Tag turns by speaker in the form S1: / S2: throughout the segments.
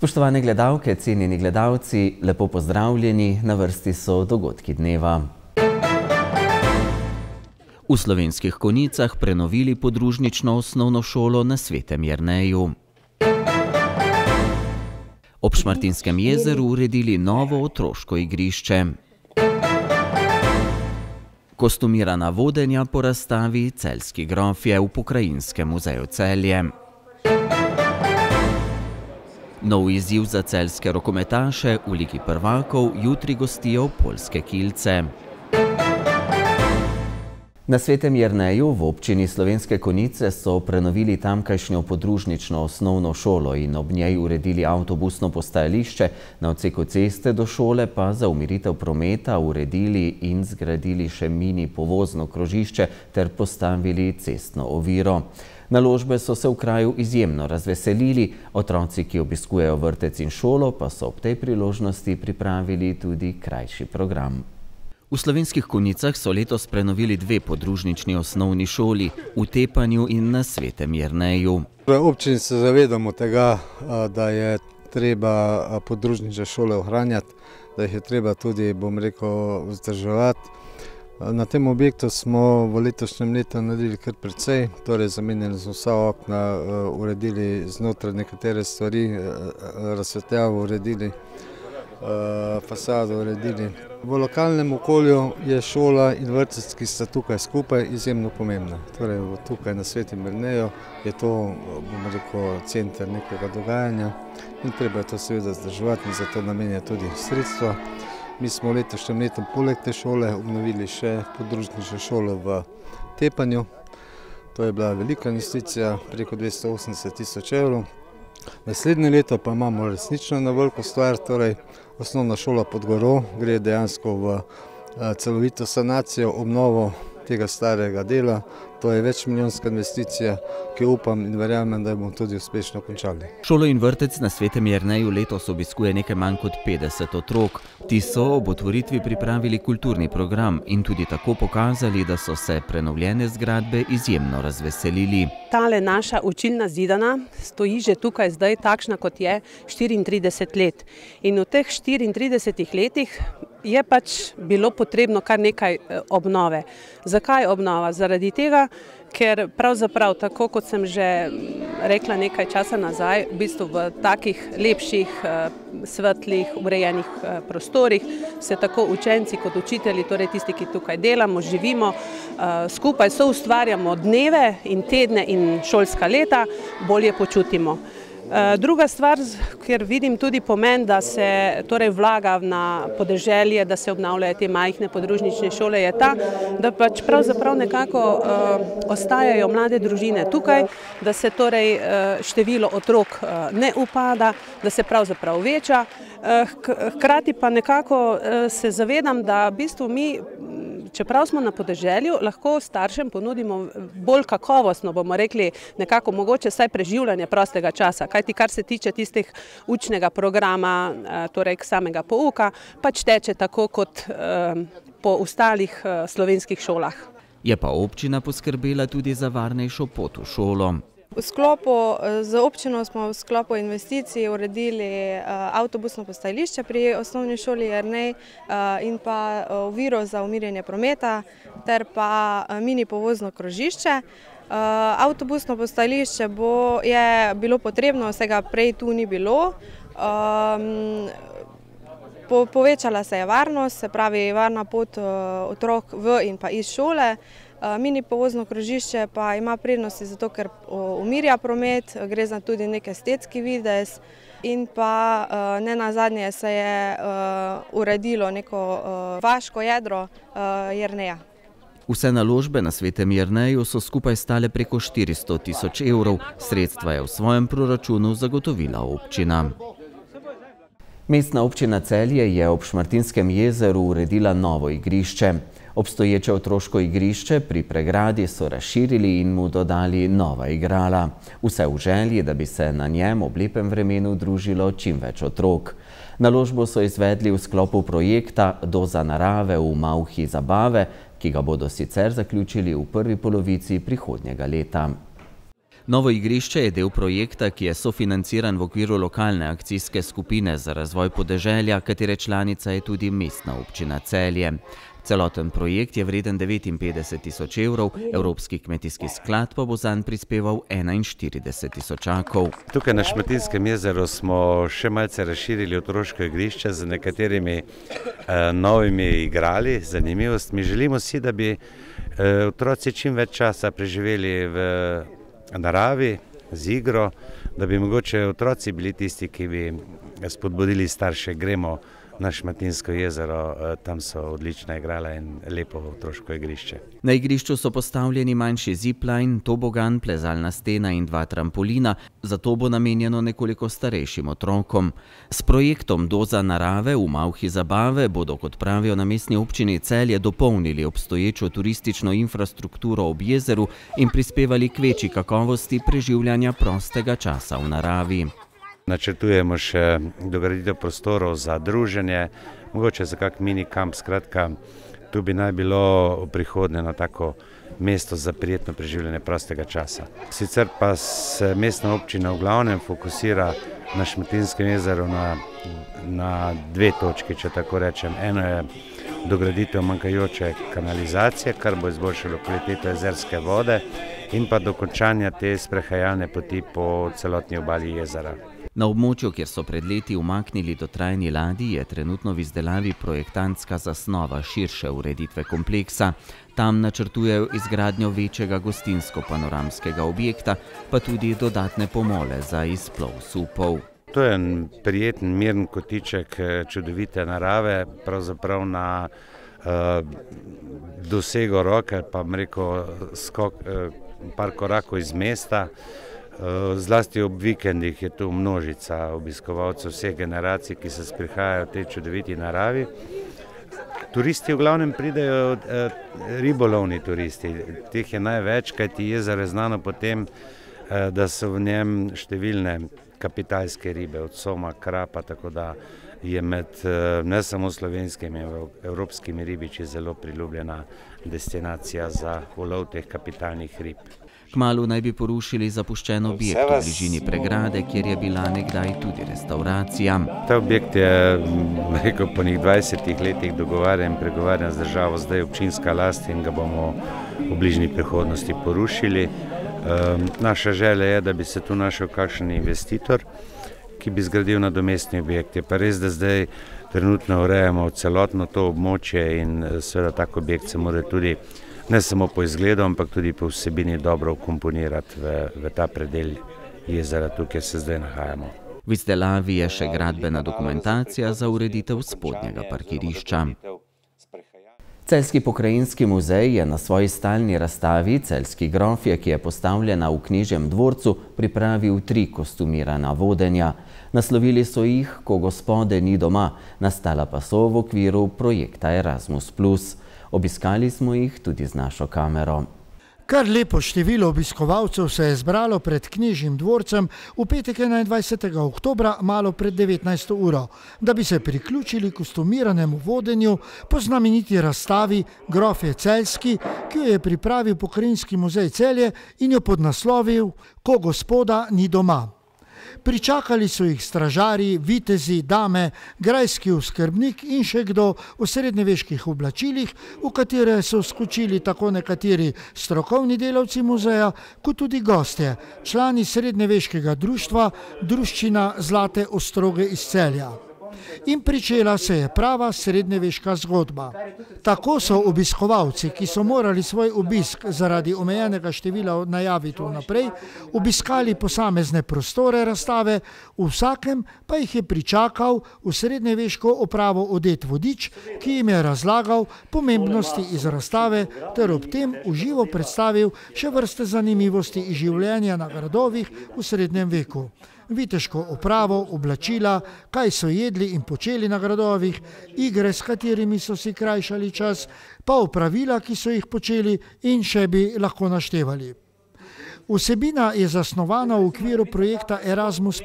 S1: Spoštovane gledalke, cenjeni gledalci, lepo pozdravljeni, na vrsti so dogodki dneva. V Slovenskih Konjicah prenovili podružnično osnovno šolo na Svetem Jerneju. Ob Šmartinskem jezeru uredili novo otroško igrišče. Kostumirana vodenja po razstavi Celjski grofje v Pokrajinskem muzeju Celje. Nov izziv za celjske rokometaše v Ligi prvakov jutri gostijo Poljske Kielce. Na Svetem Jerneju v občini Slovenske Konjice so prenovili tamkajšnjo podružnično osnovno šolo in ob njej uredili avtobusno postajališče, na odseku ceste do šole pa za umiritev prometa uredili in zgradili še mini povozno krožišče ter postavili cestno oviro. Naložbe so se v kraju izjemno razveselili, otroci, ki obiskujejo vrtec in šolo, pa so ob tej priložnosti pripravili tudi krajši program. V Slovenskih Konjicah so letos prenovili dve podružnični osnovni šoli, v Tepanju in na Svetem Jerneju.
S2: V občini se zavedamo tega, da je treba podružnične šole ohranjati, da jih je treba tudi, vzdrževati. Na tem objektu smo v letošnjem letu naredili kar precej, torej zamenjali smo vsa okna, uredili znotraj nekatere stvari, razsvetljavo uredili, fasado uredili. V lokalnem okolju je šola in vrtec, ki sta tukaj skupaj, izjemno pomembna. Torej, tukaj na Svetem Jerneju je to, center nekega dogajanja in treba je to seveda vzdrževati in zato namenja tudi sredstva. Mi smo v letošnjem letu poleg te šole obnovili še podružnično šolo v Tepanju. To je bila velika investicija, preko 280 000 evrov. Naslednje leto pa imamo resnično na veliko stvar, torej osnovna šola pod Goro gre dejansko v celovito sanacijo, obnovo tega starega dela. To je večmilijonska investicija, ki upam in verjamem, da bomo tudi uspešno končali.
S1: Šolo in vrtec na Svetem Jerneju letos obiskuje nekaj manj kot 50 otrok. Ti so ob otvoritvi pripravili kulturni program in tudi tako pokazali, da so se prenovljene zgradbe izjemno razveselili.
S3: Tale naša učilna zidana stoji že tukaj zdaj takšna, kot je, 34 let. In v teh 34 letih je pač bilo potrebno kar nekaj obnove. Zakaj obnova? Zaradi tega, ker pravzaprav, tako kot sem že rekla nekaj časa nazaj, v bistvu v takih lepših, svetlih, urejenih prostorih se tako učenci kot učitelji, torej tisti, ki tukaj delamo, živimo, skupaj soustvarjamo dneve in tedne in šolska leta, bolje počutimo. Druga stvar, kjer vidim tudi pomen, da se torej vlaga na podeželje, da se obnavljajo te majhne podružnične šole, je ta, da pač pravzaprav nekako ostajajo mlade družine tukaj, da se torej število otrok ne upada, da se pravzaprav veča. Hkrati pa nekako se zavedam, da v bistvu mi, čeprav smo na podeželju, lahko staršem ponudimo bolj kakovostno, bomo rekli, nekako mogoče vsaj preživljanje prostega časa. Kajti kar se tiče tistih učnega programa, torej samega pouka, pač teče tako kot po ostalih slovenskih šolah.
S1: Je pa občina poskrbela tudi za varnejšo pot v šolo.
S4: Z občino smo v sklopu investicij uredili avtobusno postajališče pri osnovni šoli Jernej in pa oviro za umirjanje prometa ter pa mini povozno krožišče. Avtobusno postajališče je bilo potrebno, vsega prej tu ni bilo. Povečala se je varnost, se pravi varna pot otrok v in pa iz šole. Mini povozno krožišče pa ima prednosti zato, ker umirja promet, gre za tudi nek estetski videz in pa nenazadnje se je uredilo neko vaško jedro Jerneja.
S1: Vse naložbe na Svetem Jerneju so skupaj stale preko 400 000 evrov, sredstva je v svojem proračunu zagotovila občina. Mestna občina Celje je ob Šmartinskem jezeru uredila novo igrišče. Obstoječe otroško igrišče pri pregradi so razširili in mu dodali nova igrala. Vse v želji, da bi se na njem ob lepem vremenu družilo čim več otrok. Naložbo so izvedli v sklopu projekta Doza narave v Malhi zabave, ki ga bodo sicer zaključili v prvi polovici prihodnjega leta. Novo igrišče je del projekta, ki je sofinanciran v okviru lokalne akcijske skupine za razvoj podeželja, katere članica je tudi Mestna občina Celje. Celoten projekt je vreden 59 tisoč evrov, Evropski kmetijski sklad pa bo zanj prispeval 41 tisočakov.
S5: Tukaj na Šmartinskem jezeru smo še malce razširili otroško igrišče z nekaterimi novimi igrali, zanimivostmi. Želimo si, da bi otroci čim več časa preživeli v naravi, z igro, da bi mogoče otroci bili tisti, ki bi spodbudili starše, gremo na Šmartinsko jezero, tam so odlična igrala in lepo otroško igrišče.
S1: Na igrišču so postavljeni manjši zipline, tobogan, plezalna stena in 2 trampolina, zato bo namenjeno nekoliko starejšim otrokom. S projektom Doza narave v Malhi zabave bodo, kot pravijo na Mestni občini Celje, dopolnili obstoječo turistično infrastrukturo ob jezeru in prispevali k večji kakovosti preživljanja prostega časa v naravi.
S5: Načrtujemo še dograditev prostorov za druženje, mogoče za kak mini kamp, skratka, tu bi naj bilo v prihodnje na tako mesto za prijetno preživljanje prostega časa. Sicer pa se Mestna občina v glavnem fokusira na Šmartinskem jezeru na 2 točki, če tako rečem. Eno je dograditev manjkajoče kanalizacije, kar bo izboljšalo kvaliteto jezerske vode, in pa dokončanja te sprehajalne poti po celotni obali jezera.
S1: Na območju, kjer so pred leti umaknili dotrajni ladji, je trenutno v izdelavi projektantska zasnova širše ureditve kompleksa. Tam načrtujejo izgradnjo večjega gostinsko-panoramskega objekta, pa tudi dodatne pomole za izplov supov.
S5: To je en prijeten, miren kotiček čudovite narave, pravzaprav na dosego roke, pa bom rekel par korakov iz mesta. Zlasti ob vikendih je tu množica obiskovalcev vseh generacij, ki se sprehajajo v tej čudoviti naravi. Turisti v glavnem pridejo, ribolovni turisti, teh je največ, kajti jezero je znano po tem, da so v njem številne kapitalske ribe, od soma, krapa, tako da je med ne samo slovenskimi, evropskimi ribiči zelo priljubljena destinacija za ulov teh kapitalnih rib.
S1: Kmalu naj bi porušili zapuščen objekt v bližini pregrade, kjer je bila nekdaj tudi restauracija.
S5: Ta objekt je, rekel, po 20 letih dogovarjan in pregovarjan z državo, zdaj občinska last in ga bomo v bližnji prihodnosti porušili. Naša želja je, da bi se tu našel kakšen investitor, ki bi zgradil nadomestni objekt. Je pa res, da zdaj trenutno urejamo celotno to območje in seveda tak objekt se mora tudi ne samo po izgledu, ampak tudi po vsebini dobro vkomponirati v ta predel jezera, tu, kjer se zdaj nahajamo.
S1: V izdelavi je še gradbena dokumentacija za ureditev spodnjega parkirišča. Celjski pokrajinski muzej je na svoji stalni razstavi Celjski grofje, ki je postavljena v Knežjem dvorcu, pripravil 3 kostumirana vodenja. Naslovili so jih Ko gospode ni doma, nastala pa so v okviru projekta Erasmus+. Obiskali smo jih tudi z našo kamero.
S6: Kar lepo število obiskovalcev se je zbralo pred Knežjim dvorcem v petek 21. oktobra malo pred 19. uro, da bi se priključili kostumiranemu vodenju po znameniti razstavi Grofje Celjski, ki jo je pripravil Pokrajinski muzej Celje in jo podnaslovil Ko gospoda ni doma. Pričakali so jih stražarji, vitezi, dame, grajski oskrbnik in še kdo v srednjeveških oblačilih, v katere so skočili tako nekateri strokovni delavci muzeja, kot tudi gostje, člani srednjeveškega društva Druščina Zlate Ostroge iz Celja. In pričela se je prava srednjeveška zgodba. Tako so obiskovalci, ki so morali svoj obisk zaradi omejenega števila najaviti vnaprej, obiskali posamezne prostore razstave, v vsakem pa jih je pričakal v srednjeveško opravo odet vodič, ki jim je razlagal pomembnosti iz razstave ter ob tem v živo predstavil še vrste zanimivosti iz življenja na gradovih v srednjem veku. Viteško opravo, oblačila, kaj so jedli in počeli na gradovih, igre, s katerimi so si krajšali čas, pa opravila, ki so jih počeli in še bi lahko naštevali. Vsebina je zasnovana v okviru projekta Erasmus+.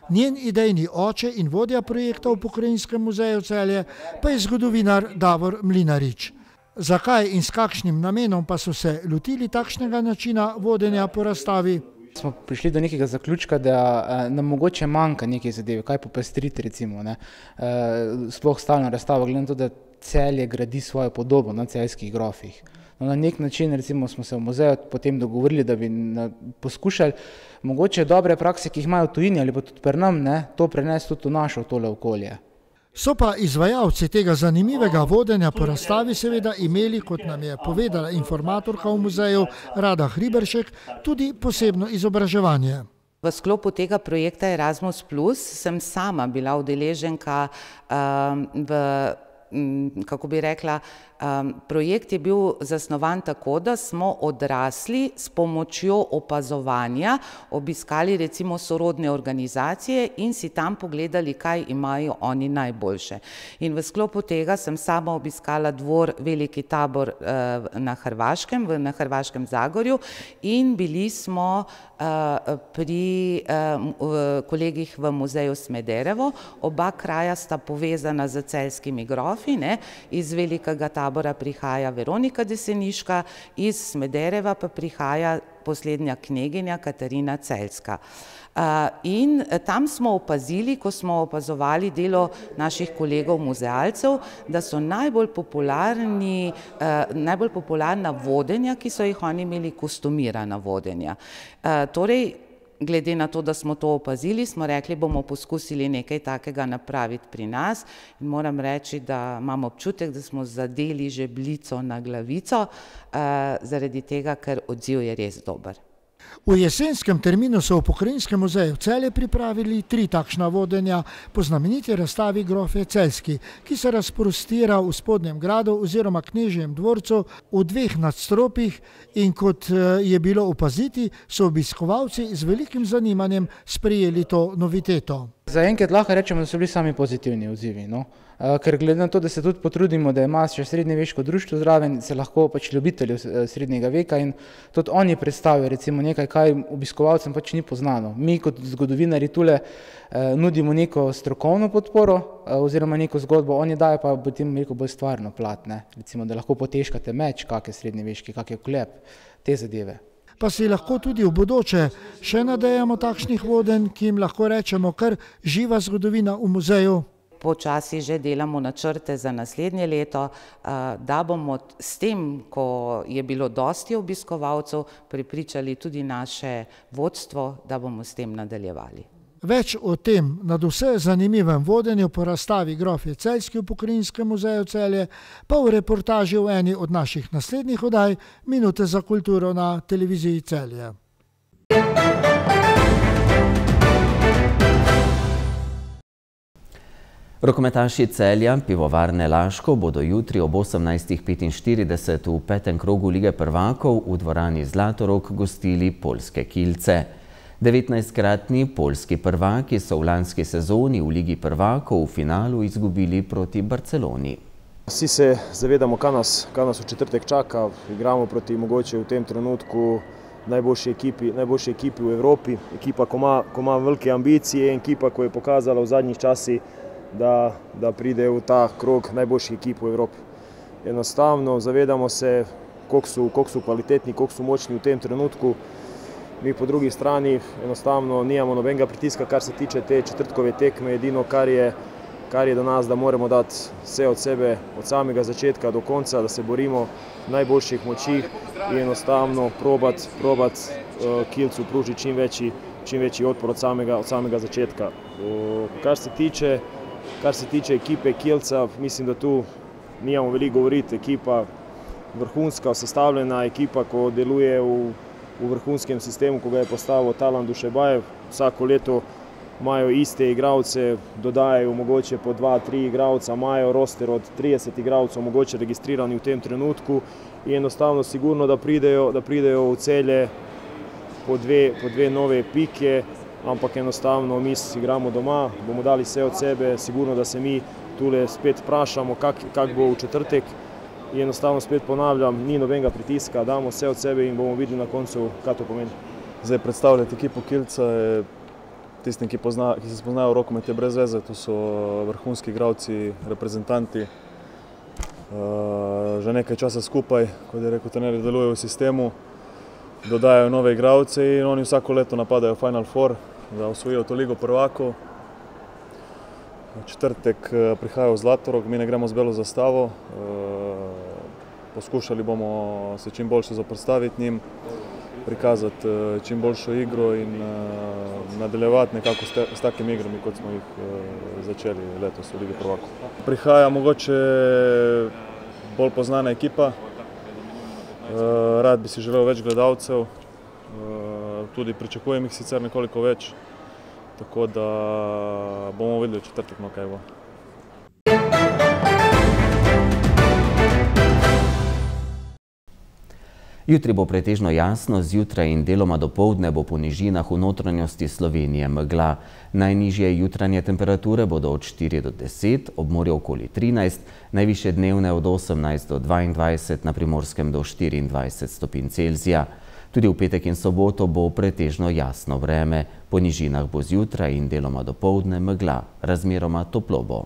S6: Njen idejni oče in vodja projekta v Pokrajinskem muzeju Celje pa je zgodovinar Davor Mlinarič. Zakaj in s kakšnim namenom pa so se lotili takšnega načina vodenja po razstavi?
S7: Smo prišli do nekega zaključka, da nam mogoče manjka neke zadeve, kaj popestriti recimo, sploh stalno razstavo, glede na to, da Celje gradi svojo podobo na celjskih grofih. Na nek način recimo smo se v muzeju potem dogovorili, da bi poskušali mogoče dobre prakse, ki jih imajo v tujini ali pa tudi pri nam, to prenesti tudi v našo tole okolje.
S6: So pa izvajalci tega zanimivega vodenja po razstavi seveda imeli, kot nam je povedala informatorka v muzeju Rada Hriberšek, tudi posebno izobraževanje.
S8: V sklopu tega projekta Erasmus Plus sem sama bila udeleženka kako bi rekla, projekt je bil zasnovan tako, da smo odrasli s pomočjo opazovanja obiskali recimo sorodne organizacije in si tam pogledali, kaj imajo oni najboljše. In v sklopu tega sem sama obiskala dvor Veliki Tabor na Hrvaškem Zagorju in bili smo pri kolegih v muzeju Smederevo. Oba kraja sta povezana z celjskimi grofi, iz Velikega Tabora prihaja Veronika Deseniška, iz Smedereva pa prihaja poslednja kneginja Katarina Celjska. In tam smo opazili, ko smo opazovali delo naših kolegov muzealcev, da so najbolj popularna vodenja, ki so jih oni imeli, kostumirana vodenja. Torej, glede na to, da smo to opazili, smo rekli, bomo poskusili nekaj takega napraviti pri nas in moram reči, da imam občutek, da smo zadeli žebljico na glavico, zaradi tega, ker odziv je res dober.
S6: V jesenskem terminu so v Pokrajinskem muzeju Celje pripravili 3 takšna vodenja po znameniti razstavi Grofje Celjski, ki se razprostira v Spodnjem gradu oziroma Knežjem dvorcu v 2 nadstropjih in kot je bilo opaziti, so obiskovalci z velikim zanimanjem sprejeli to noviteto.
S7: Zaenkrat lahko rečemo, da so bili sami pozitivni odzivi, ker glede na to, da se tudi potrudimo, da ima še srednjeveško društvo zraven, se lahko ljubitelji srednjega veka in tudi oni predstavijo recimo nekaj, kaj obiskovalcem ni poznano. Mi kot zgodovinarji tule nudimo neko strokovno podporo oziroma neko zgodbo, oni dajo pa potem bolj stvarno plat, recimo, da lahko potežkate meč, kak je srednjeveški, kak je klep, te zadeve.
S6: Pa si lahko tudi v bodoče še nadejamo takšnih vodenj, ki jim lahko rečemo kar živa zgodovina v muzeju.
S8: Počasi že delamo načrte za naslednje leto, da bomo s tem, ko je bilo dosti obiskovalcev, prepričali tudi naše vodstvo, da bomo s tem nadaljevali.
S6: Več o tem nadvse zanimivem vodenju po razstavi Grofje Celjski v Pokrajinskem muzeju Celje pa v reportaži v eni od naših naslednjih oddaj Minute za kulturo na televiziji Celje.
S1: Rokometaši Celja Pivovarne Laško bodo jutri ob 18:45 v 5. krogu Lige prvakov v dvorani Zlatorog gostili poljske Kielce. 19-kratni poljski prvaki so v lanski sezoni v Ligi prvakov v finalu izgubili proti Barceloni.
S9: Vsi se zavedamo, kaj nas v četrtek čaka. Igramo proti mogoče v tem trenutku najboljši ekipi v Evropi. Ekipa, ko ima velike ambicije in ekipa, ko je pokazala v zadnjih časih, da pride v ta krog najboljših ekip v Evropi. Enostavno zavedamo se, koliko so kvalitetni, koliko so močni v tem trenutku. Mi po drugi strani enostavno nimamo nobenega pritiska, kar se tiče te četrtkove tekme. Edino, kar je do nas, da moramo dati vse od sebe, od samega začetka do konca, da se borimo v najboljših močih in enostavno probati Kielcu pružiti čim večji odpor od samega začetka. Kar se tiče ekipe Kielca, mislim, da tu nimamo veliko govoriti. Ekipa vrhunska, sestavljena ekipa, ko deluje v vrhunskem sistemu, ko ga je postavil Talan Dušebajev. Vsako leto imajo iste igralce, dodajajo mogoče po 2-3 igralca, imajo roster od 30 igralcev, mogoče registrirani v tem trenutku in enostavno sigurno, da pridejo v Celje po dve nove pike, ampak enostavno mi igramo doma, bomo dali vse od sebe, sigurno, da se mi tule spet vprašamo, kak bo v četrtek. In enostavno spet ponavljam, ni nobenega pritiska, damo vse od sebe in bomo videli na koncu, kaj to pomeni.
S10: Zdaj predstavljati ekipo Kielca, tistim, ki se spoznajo v rokomet, je brez veze, to so vrhunski igralci, reprezentanti. Že nekaj časa skupaj, kot je rekel trener, delujejo v sistemu. dodajajo nove igralce in oni vsako leto napadajo Final Four, da osvojijo to ligo prvakov. V četrtek prihajajo v Zlatorog, mi ne gremo z belo zastavo. Poskušali bomo se čim boljše zoperstaviti njim, prikazati čim boljšo igro in nadaljevati nekako s takimi igrami, kot smo jih začeli letos v Ligi prvakov. Prihaja mogoče bolj poznana ekipa, rad bi si želel več gledalcev, tudi pričakujem jih sicer nekoliko več, tako da bomo videli v četrtek, no kaj bo.
S1: Jutri bo pretežno jasno, zjutraj in deloma dopoldne bo po nižinah v notranjosti Slovenije megla. Najnižje jutranje temperature bodo od 4 do 10, ob morju okoli 13, najvišje dnevne od 18 do 22, na Primorskem do 24 stopinj Celzija. Tudi v petek in soboto bo pretežno jasno vreme, po nižinah bo zjutraj in deloma dopoldne megla, razmeroma toplo bo.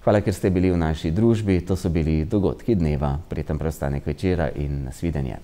S1: Hvala, ker ste bili v naši družbi. To so bili dogodki dneva. Prijeten preostanek večera in nasvidenje.